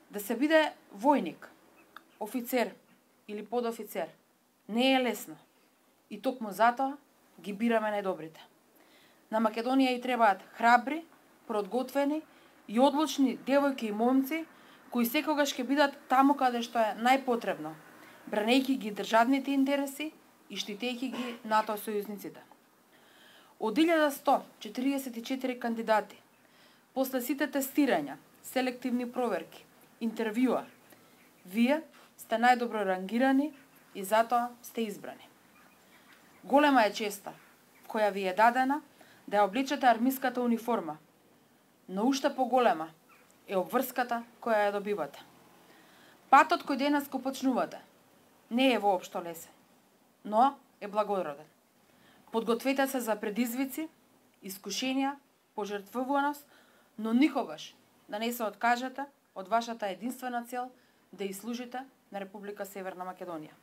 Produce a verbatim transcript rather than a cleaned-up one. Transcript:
Да се биде војник, офицер или подофицер не е лесно. И токму затоа ги бираме најдобрите. На Македонија и требаат храбри, подготвени и одлучни девојки и момци кои секогаш ќе бидат таму каде што е најпотребно, бранејќи ги државните интереси и штитејќи ги НАТО сојузниците. Од илјада сто четиридесет и четири кандидати, после сите тестирања, селективни проверки, интервјуа, вие сте најдобро рангирани и затоа сте избрани. Голема е честа која ви е дадена да ја облечете армиската униформа, но уште поголема е обврската која ја добивате. Патот кој денес го почнувате не е воопшто лесен, но е благороден. Подгответе се за предизвици, искушенија, пожртвуваност, но никогаш да не се откажете од вашата единствена цел да ја служите на Република Северна Македонија.